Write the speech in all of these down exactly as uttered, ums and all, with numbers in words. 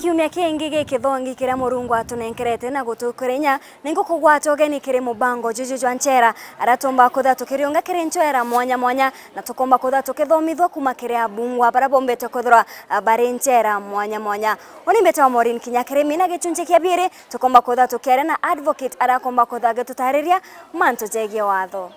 Kiumia kingi gikithongi kiria Murungu atunenkerete na gutukwira inya, ni ngukugwata ugeni kiri mubango juju jwa nchera, aria tumba kwithirwa tukiriunga kiri nchera mwanya mwanya, na tukomba kwithirwa tukithomithua kuma kiri abungwa baria bombite kwithirwa, ah, bari nchera mwanya mwanya. Uni mbite wa Maureen Kinya Kirimi, na gichunchi kia biiri tukomba kwithirwa tukiaria na advocate aria akomba kwithirwa agitutariria mantu jegie watho.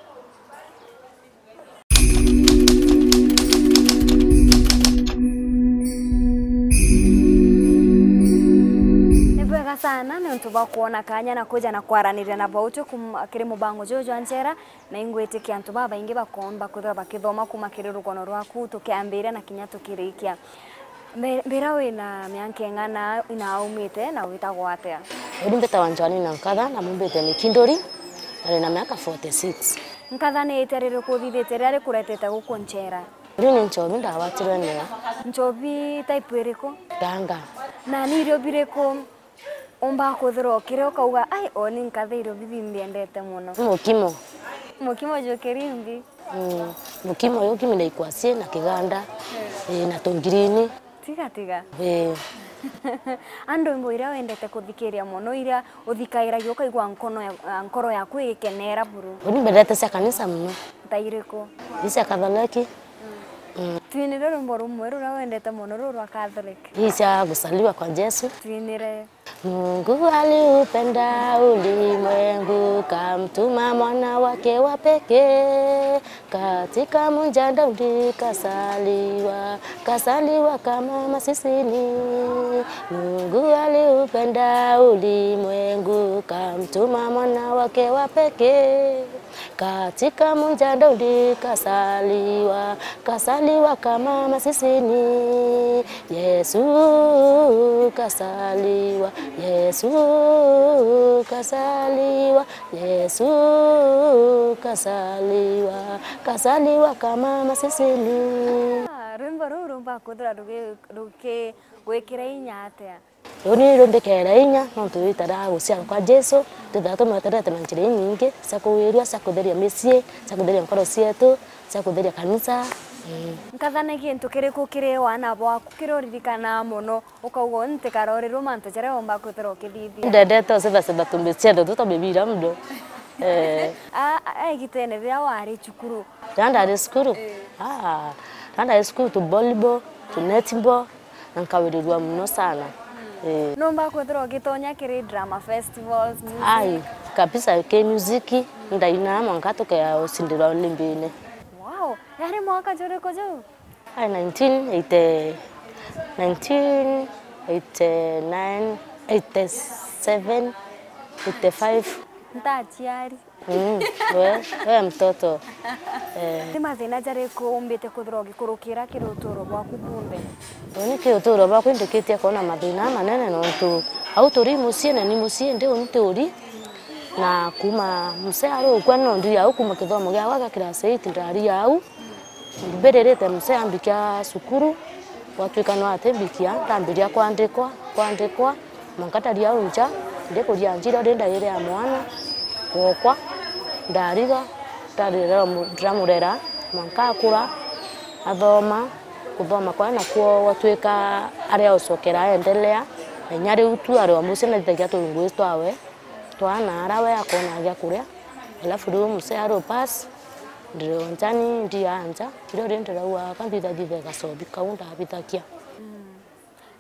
Ni bwega sana niuntu bwa kwona kanya na kuja na kwaraniria na bautu kuma kiri mubango juju jwa nchera, na ingwitikia antu babaingi bakomba kwithirwa bakithoma kuma kiri rugono rwaku tukiambiria na kinya tukirikia. Mbe-, mbira wina mianka ing'ana na aumite na witagwa atia? Uni mbitagwa Joanina Nkatha na mumbite Mikinduri, na ndina miaka forty six. Nkatha ni itia ririku uthithitie riria rikuretete guku nchera? Riu ni nchobi ndagwatirwe nio. Nchobi type iriku? Ganga. Na ni irio biriku umba kwithirwa ukiria ukauga, "Ai, oni nkatha irio bibi mbiendete muno"? Mukimo. Mukimo jukiri mbi? Mm. Mukimo uyu ukimi na ikwasie na kiganda, eh, na tungirini. Tiga, tiga. Eh. A ndwimbo iria wendete kuthikiria muno, iria uthikairagia ukaigua nkono ya, nkoro yaku igikenera buru? Uni mbendete cia kanisa muno. Ta iriku? Ni cia Katholeki. Mm. Twinire rwimbo rumwe ruria wendete muno, ruu rwa Catholic. Hii cia Kuzaliwa kwa Jesu. Twinire. Mungu aliupenda ulimwengu, kamtuma mwana wake wa pekee, katika mjanda undi kasaliwa, kasaliwa kama masisini. Mungu aliupenda ulimwengu, kamtuma mwana wake wa pekee. Katika munjanda undi kasaliwa, kasaliwa kama masisini. Yesu kasaliwa, Yesu kasaliwa, Yesu kasaliwa, kasaliwa kama masisini. Ah, rwimbo ruu rumba kwithirwa rugi-, rukigwikira inya atia? Uni rumbikere inya, nontu itara guciarwa kwa Jesu, twithaga tumweterete na njira inyingi cia kuwirua, cia kutheria micii, cia kutheria nkoro cietu, cia kutheria kanisa. Ii. Nkatha ni gintu kiriku kiri wana bwaku kiria uririkanaga mono, ukauga, "Uni ntikarorirua mantu jaria umba kwithirwa ukithithia"? Ndendete ucethacetha tumbi ciethe tu twa mibira mdo. Eh. A, a, a igitene riria wari cukuru? Riria ndari cukuru? Ii. Ah, riria ndari cukuru tu volleyball, tu netball, na nkawirirua muno sana. Ii. Numba kwithirwa ugitonya kiri drama festivals, music? Ai, kabisa, ki music, ndainaa mwanka tukea ucindirwa Olympic-ini. Wow! Yari mwaka juriku jau? Ai, nineteen eighty, nineteen eighty-nine, eighty-seven, eighty-five. Ntachiari. Mm, we, we mtoto. Eh. Ni mathina jariku umbite kwithirwa ugikurukira kiri uturo bwaku bunthe? Uni kiri uturo bwakwa indikitie kwona mathina manene, nontu au turi mucii na ni mucii ndi uni turi, na kuma msee ari ukwa no ndiri au, kuma kithomo giakwa gia class eight ndari au. Mbiririte msee ambikia cukuru, gwatwika no atimbikia, ndambiria kwandikwa, kwandikwa, mwanka ndari au nja, ndikuria njira uri ndaire ya mwana, gwokwa, ndariga, ndarera mu-, ndiramurera, mwanka akura, athoma, kuthoma kwae nakuo gwatwika ari aucokera aendelea, na inya riu tu ari o mucii nathithagia turungugi twawe, twana ara we akona gia kuria, alafu riu msee ari o pass, ndiri o njani, ndia nja, irio ri ndirauga ka nthithathithe gacobi kau ndabithagia. Mm.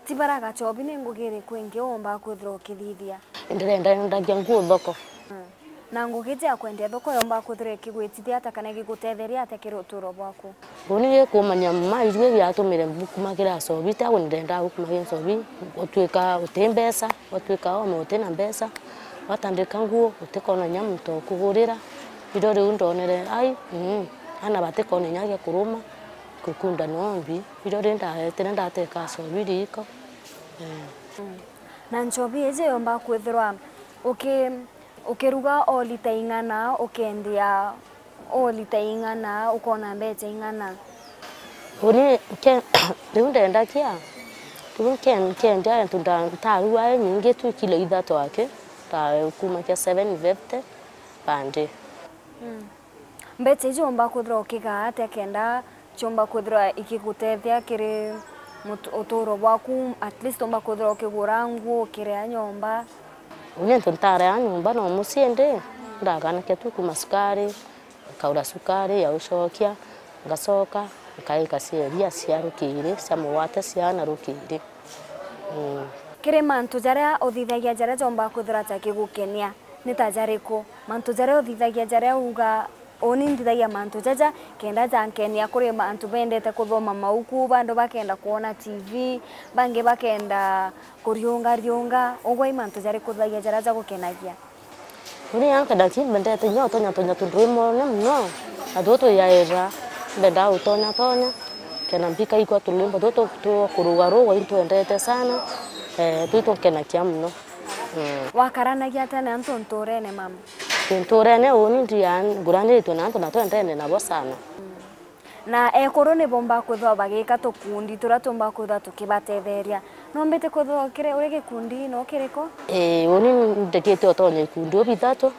Ti bara gacobi ni ngugi iriku ingi uumba kwithirwa ukithithia? Ndirenda, ndendagia nguo thoko. Mm. Na ngugi iji ya kwendia thoko yomba kwithirwa ikigwitithia atia kana igigutetheria atia kiri uturo bwaku? Uni gikumania mma, irue biatumire mbukumagira ncobi, tia uni ndendaa gukumagira ncobi, gutwika uti mbeca, gwatwika ome uti na mbeca, watandika nguo, utikona inya muntu wa kugurira. Irio riu ndonere, ai, mm, ana batikona inya gia kuruma, gukunda no mbi. Irio ri ndaetire ndateka ncobi riiko. Eh. Mm. Na ncobi iji yomba kwithirwa uki-, ukiruga o lita ing'ana, ukendia o lita ing'ana, ukona mbeca ing'ana? Uni nke-, riu ndendagia, riu nke-, nkendia antu nda-, ntarua inyingi tu kilo ithatu aki, ta kuma kia seven fifty per day. Mm. Mbeca iji umba kwithirwa ukigaa atia kenda ciumba kwithirwa ikigutethia kiri Mut-, uturo bwaku, at least umba kwithirwa ukigura nguo, ukiria nyomba? Uni antu ntaria nyomba no mucii ndi, ndaganakia tu kuma cukari, nkaura cukari ya ucokia, ngacoka, nkaika cia iria cia rukiri, cia mugwate ciana rukiri. Mm. Kiri mantu jaria uthithagia jaria jomba kwithirwa jakigukenia, ni ta jariku? Mantu jaria uthithagia jaria uga, uni nthithagia mantu jaja kenda jankenia, kuri mantu bendete kuthoma mauku, bandu bakenda kwona T V, bangi bakenda kuriunga riunga. Ugwe i mantu jariku uthithagia jaria jagukenagia? Uni anka ndati mbendete inya utonya tonya tuntu imone muno, na tuo tuyaira, mbendaa utonya tonya, kena mbika ikwa turimbo tuo tu-, tuo kuruga ruga intwendete sana, eh, tui tunkenakia muno. Mm. Wakaranagia atia na antu nturene, mama? Nturene uni ndia nguraniritwe na antu na twendene nabo sana. Na ekuru ni bomba kwithirwa bagika tukundi turia tumba kwithirwa tukibatetheria. Nombite kwithirwa kiri, uri gikundi no kiriku? Ii, uni ndikite utonya ikundi u bithatu.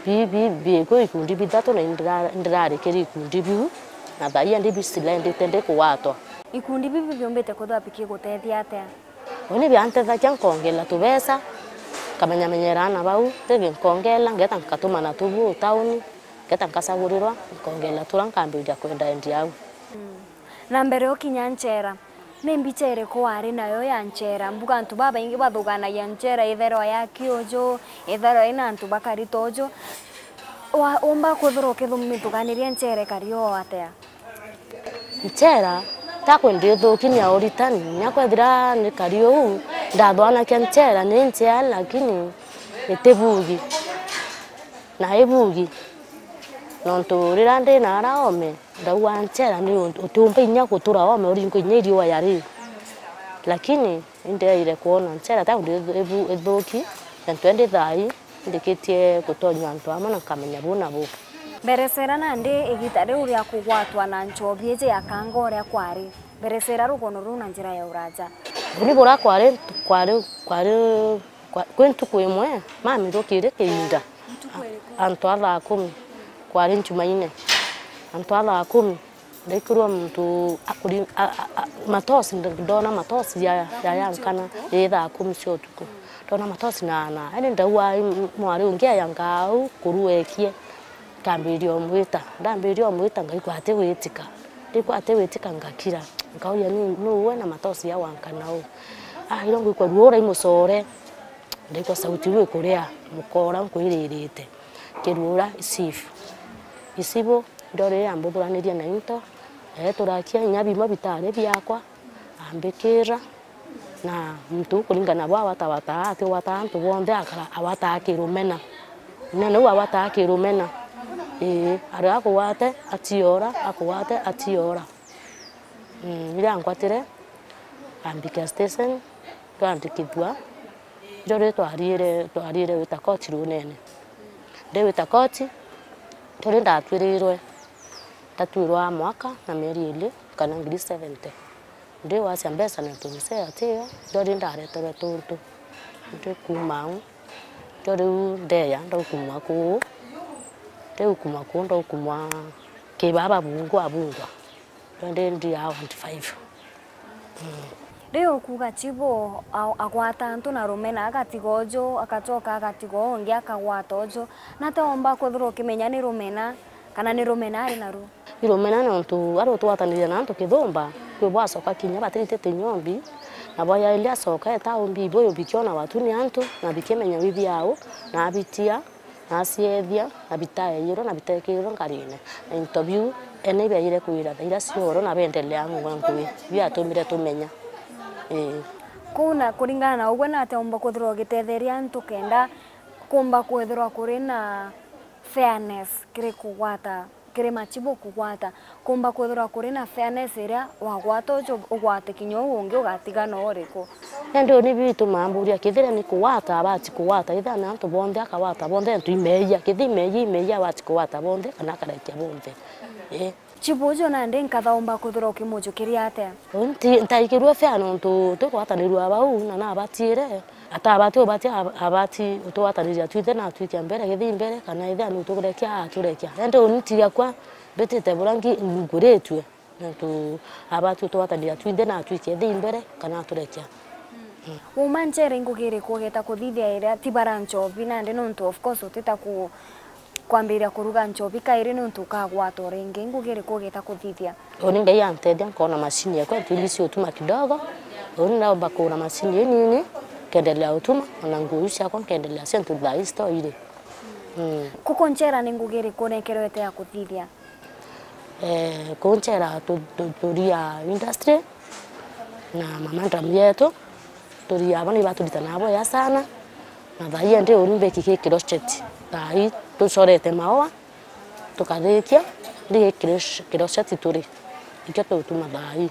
Bi, bi, bikwi ikundi bithatu na indira-, ndirari kiri ikundi biu. Na thaii ndi bisilendite ndikugwatwa. Ikundi bibi biumbite kwithirwa bikigutethia atia? Uni biantethagia nkongela tubesa, nkamenyamenyera aana bau, ringi nkongela, ngeta nkatumana tubu tauni. Ngeta nkacagurirwa, nkongela tura nkambiria kwendaendia au. Mm. Na mbere ukinya nchera, ni mbicha iriku wari nayo ya nchera? Mbuga antu babaingi bathuganagia nchera, itherwa yaki uju, itherwa ina antu bakari ta uju. Wa-, umba kwithirwa ukithumithugania nchera ikari o atia? Nchera, takwe ndithuki ni ya uritani, nya kwethira nikari uu, ndathwanakia nchera ni njea, lakini itibugi. Na ibugi, nontu riria ndi na ara oome, ndauga nchera ni untu utiumba inya gutura oome uringwe inya iriua yari. Lakini indeeire kwona nchera ta undi ithu-, ithuki, na ntwende thaai, ndikitie gutonywa antu amwe na nkamenya bu na bu. Mberecera nandi igita riu ria kugwatwa na nchobi iji ya kanga uria kwari. Mberecera rugono ruu na njira ya uraja. Buri buria kwari, kwari, kwari Kwa, kwi ntuku imwe, mami rukiri kiinda. Ntuku iriku? Antu a thaa kumi. Kwari Njumaine. Antu a thaa kumi, ndaikirwa muntu akuri-, a, a, a, matosi, nd-, ndona matosi ya, ya, ya nkana, ii thaa kumi cia utuku. Ndona matosi na, na, yani ndauga, "Ai, m-, mwari ungi ayanga au, kuru ekie." Nkambiria umwita, ndambiria umwita, ngaigua atigwitika. Ndaigua atigwitika, ngakira. Nkauria, "Ni, nu we na matosi ya wankana uu?" Ah, iro ngwigua ruo uraimucore. Ndaigua sauti iu ikuria, mukora nkwiririte. Kiruura isibu. Isibu, ndorire ambuthuranirie na into, eeturakia inya bimwe bitari biakwa, ambikira, na muntu kuringana na bwa awatawataa, atiwataa antu bonthe, akara-, awataa kirumena. Munene uu awataa kirumena. Ii, ari akugwate, atiora, akugwate, atiora. Mm, riria angwatire, ambikira station, twandikithua. Irio riu twariire, twariire gwita koti runene. Ndi gwita koti, irio riu ndatwirirwe, ndatwirwa mwaka na mieri iiri kana ngiri seventy. Ndi gwacia mbeca nontu mzee atio, irio riu ndareterwe tuntu. Ndi kuuma au, irio riu ndeya, ndaukumwa kuu, ndiukumwa kuu, ndaukumwa kibaba bungwa bungwa. Ndi, ndi around five. Mm. Riu ukuuga chibu a-, agwata antu na rumena, agatiga uju, agacoka agatiga uu ungi, akagwata uju. Na te umba kwithirwa ukimenya ni rumena, kana ni rumena ari naru? I rumena nontu ari utugwataniria na antu kithumba, kwi bwacoka kinya batiritite nyombi, na bwayairi acoka eta umbi ibu bikiona watu ni antu, na bikimenya withia au, na abitia. Naciethia, na bitaeirwe, na bitekirirwe nkarine. Na into biu, ene ibiaire kwira thaira cioro, na bendelea ngua ngui. Biatumire tumenya. Ii. Kuu na kuringana na ugwe, nate umba kwithirwa ugitetheria antu kenda kumba kwithirwa kuri na fairness kiri kugwata, kiri machibu kugwata? Kumba kwithirwa kuri na fairness iria wagwata uju ugwate kinya uu ungi ugatiga no uriku? Indi uni biu itumaa mburia, kethira ni kugwata, abati kugwata, ethira ni antu bonthe akagwata bonthe, antu imeeyia, kethira imeeyia, imeeyia abati kugwata bonthe, kana akarekia bonthe. Ii. Chibu uju nandi nkatha umba kwithirwa ukimujukiria atia? Uni nti-, ntaikirue fair nontu twigwatanirua bau, na nabatire. Atabati ubati ab-, abati utugwataniria twithe na atwikia mbere, githii mbere, kana ethira ni uturekia, aturekia. Indi uni ntigakua mbitite buria ngi-, nguritue. Nontu aba tu twatania twinthe na atwike thi mbere kana aturekia. Uma nchere ingugi iriku ugeta kuthithia iria ti bara nchobi nandi nontu of course utita ku kwambiria kuruga nchobi kairi nontu ukagwata o ringi. Ingugi iriku ugeta kuthithia? Uni Ngai antethia nkona macini yakwa itumbisi utuma kidogo. Uni naomba kugura macini inini, nkendelea utuma, ona nguo iu ciakwa nkendelea cio ntu thaa ii citoire. Mm. Kuku ncera ni ngugi iriku unekerwete ya kuthithia? Eh, kuu ncera tu- tu- turia industry na mamandam yetu, turia abo ni baturitanaga bwega sana, na thaa ii endi uni mbiki ki crochet, thaa ii tucorete maua, tukathikia, ndi gi cro- crochet turi, ikio tutuma thaa ii,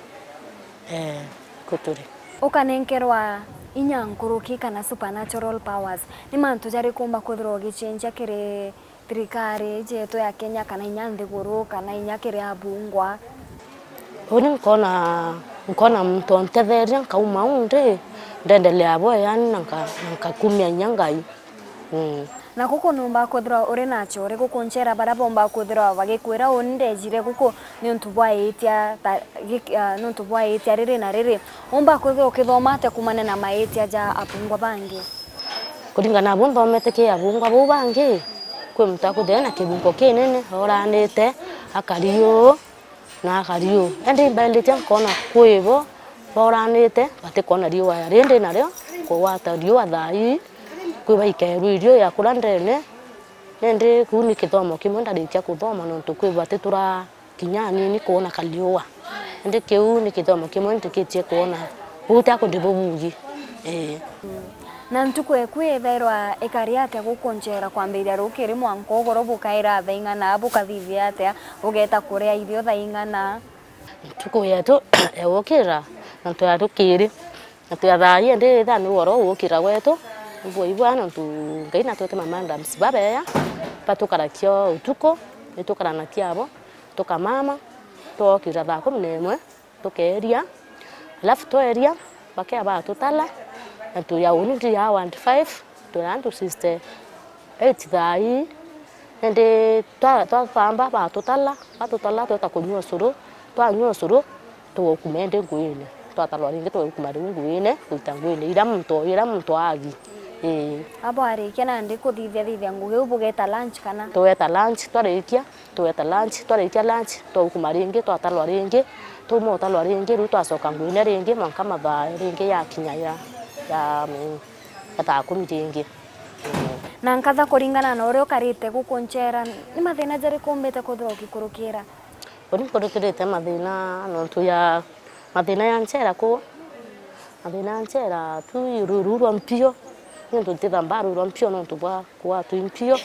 eh, ku turi. Ukanenkerwa inya nkuruki kana supernatural powers, ni mantu jariku umba kwithirwa ugicenjia kiri thirikari iji yetu ya Kenya kana inya nthiguru kana inya kiri abungwa? Uni nkona, nkona muntu ontetheria nkauma uu ndi, ndendelea bwega yani na nka- na nkakumia inya Ngai. Mm. Na guku nuumba kwithirwa uri na acore guku ncera baria boomba kwithirwa bagikwira uni ndejire guku niuntu bwa iitia ta- gi- ah, niuntu bwa iitia riri na riri. Uumba kwithirwa ukithoma atia kuumania na maitia ja abungwa bangi? Kuringana na bu nthomete ki abungwa bau bangi, kwi muntu akwithirwa ena kibungo kinene, oranite, akari uu, na akari uu. Indi mbairitie nkona kwi bo boranite, batikwona riua riri ndi nario, kugwata riua thaa ii, kwi baikerwe irio ya kuria ndene, indi kuu ni kithomo kimwe ndarikia kuthoma nontu kwi bati tura kinya anini kwona kariua. Indi kiu ni kithomo kimwe ndikitie kwona buti akundi bubungi. Ii. Na ntuku eku ithairwa ikari atia guku ncera kwambiria rukiri mwanka ugoro bukaira thaa ing'ana, bukathithia atia, bugeeta kuria irio thaa ing'ana? Ntuku yetu ya gukira, nontu ya rukiri, nontu ya thaa ii ndi ithaa ni ugoro ugukira gwetu, ibwa ibwa nontu Ngai natwete ma madams babeya, batukarakia utuku, ni tukaranakia abo, tukamama, twokira thaa kumi na imwe, tukeeria, alafu tweeria, bakea batutala, na tuya uni ndi ya ward five, twira antu sixty eight thaa ii, indi twa- twathamba, batutala, batutala, tweta kunyua ucuru, twanyua ucuru, tugukuma indi nguine, twatalwa ringi, tugukuma riu nguine, gwita nguine iria muntu, iria muntu agi. Ii. Abo arikia nandi kuthithia thithia ngugi iu bugeta lunch kana? Tugeta lunch, twarikia, tugeta lunch, twarikia lunch, twaukuma ringi, twatalwa ringi, twauma utalwa ringi, riu twacoka nguine ringi, mwanka mathaa ringi yakinya ya, ya, ya thaa kumi ringi. Mm. Na nkatha kuringana na uria ukarite guku ncera, ni mathina jariku umbite kwithirwa ugikurukira? Uni nkurukirite mathina nontu ya Mathina ya nchera kuu, mathina ya nchera tu ruru rwa mpio, niuntu ntithambaa ruru rwa mpio niuntu bwa kuatwi mpio,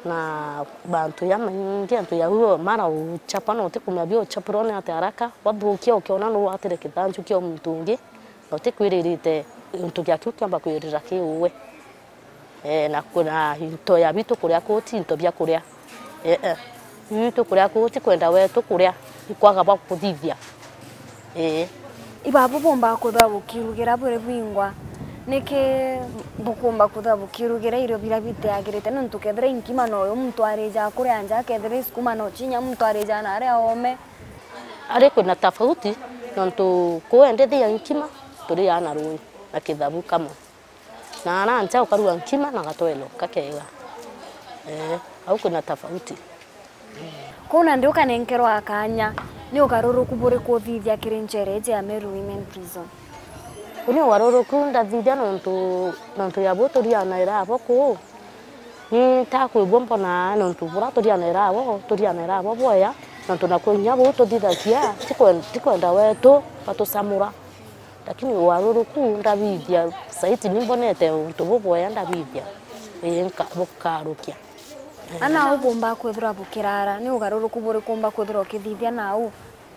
na mantu jamaingi, antu jau mara uchapa na utikumenya bia uchapirwa ni atia haraka, wathukia ukiona nuu watire kithanju kia muntu ungi, na utikwiririte untu gia kiu kiamba kwirira ki uwe. Ee, na kwina into ya bitu kuria kuu ti into bia kuria. Ee, ee. Bitu kuria kuu ti kwenda wetu kuria, ikwaga bwa kuthithia. Ee. Ibabu bumba kwithirwa bukirugira buri bwingwa. Niki bukumba kwithirwa bukirugira irio biria bitiagirite? Nontu kethira i nkima no yo muntu arijaga kuria nja, kethira i sukuma no chinya muntu arijaga na aria oome. Ari kwina tofauti, nontu kuu endi thia nkima, turiaa na rui na kithabu kamwe. Na ara nja ukarua nkima na gatwelo kakega. Ee, au kwina tofauti. Kuu nandi ukanenkerwa kaanya, ni ugaruruku buriku uthithia kiri nchera iji ya Meru Women Prison? Uni ugaruruku ndathithia nontu, nontu ya bu turianaira abo kuu. Ni ntakwigua mbona nontu bura turianaira abo, turianaira abo bwega, nontu naku inya buu tuthithagia, ti kwen- ti kwenda wetu batucamura. Lakini ugaruruku ndabithia, saiti ni mbonete untu bubwega ndabithia, ii, nka- bukarukia. Ana au bumba kwithirwa bukirara, ni ugaruruku buriku umba kwithirwa ukithithia nau?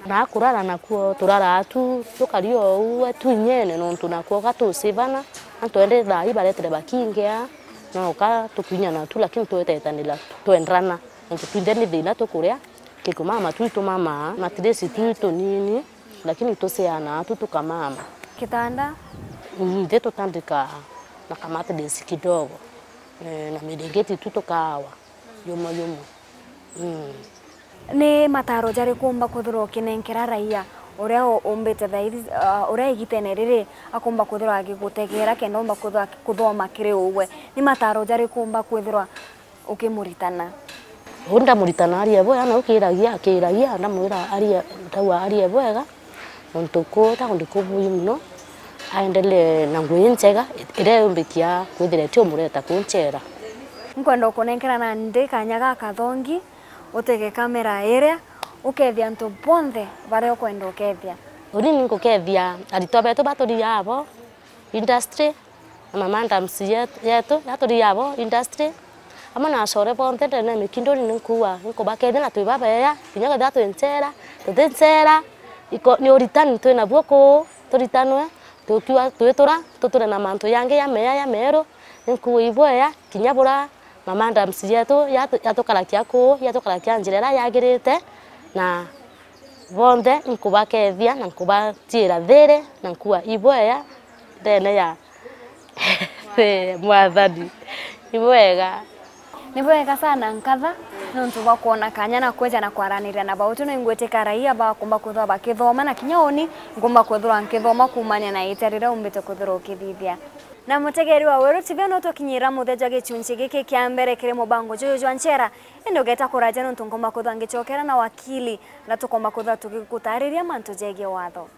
Na kurara nakuo, turaraa tu, tukari o uu tu inyene, nontu nakuo ga tucivana, antu endi thaa ii baretere bakingia, no ka tukinya natu, lakini twetetanira, twendrana. Nontu twinthe ni thina tukuria, kikumama tu itumamaa, matiresi tu itunini, lakini tucianaa tu tukamama. Kitanda? Nthi tutandikaa na kamatiresi kidogo, eh, na mirengeti tu tukaawa, yumwe yumwe. Mm. Ni mataro jariku umba kwithirwa ukinenkera raia uria u-, umbite thaithi, ah, uria igitene riri akumba kwithirwa agigutegera kenda umba kwithirwa aki-, kuthoma kiri ugwe? Ni mataro jariku umba kwithirwa ukimuritana? Uu ndamuritana arie bwega, na ukiragia, akiragia, ndamwira arie, ndauga arie bwega, nontu kuu takundi kubui mono, aendelee na ngugi injega iria yumbikia kwithira itiumureta kunchera. Nkwenda ukunenkera nandi kanya gaka thongi, utege kamera iria, ukethia antu bonthe baria ukwenda ukethia. Uni ni nkukethia aritwa betu baturiaa bo industry, na ma madams yet-, yetu, yaturiaa bo industry, amwe na acore bonthe ndene ya Mikinduri, ni nkuuga ni nkubakethia na twi babeya, kinya kethira twi nchera, tuti nchera, iko-, ni uritani twi nabuo kuu, turitanwe, tukiuga twitura, tuture na mantu jangi jameya jameru, ni nkuuga ibweya, kinya bura ma madams yetu yatu-, yatukarakia kuu, yatukarakia njira iria yagirite, na bonthe nkubakethia na nkubatiira thiri na nkuuga ibweya ndene ya Mwathani. Ibwega. Ni bwega sana, nkatha nontu bwa kwona kanya na kweja na kwaraniria na bautu. No ingwitika raia bakumba kwithirwa bakithoma, na kinya uni nkumba kwithirwa nkithoma kuumania na itia riria umbite kwithirwa ukithithia. Na mutegeri wa Weru T V, no tukinyira muthia jwa gichunchi giki kia mbere kiri mubango juju jwa nchera, indi ugeta kuraja nontu nkumba kwithirwa ngichokera na wakili, na tukomba kwithirwa tugigutariria mantu jegie watho.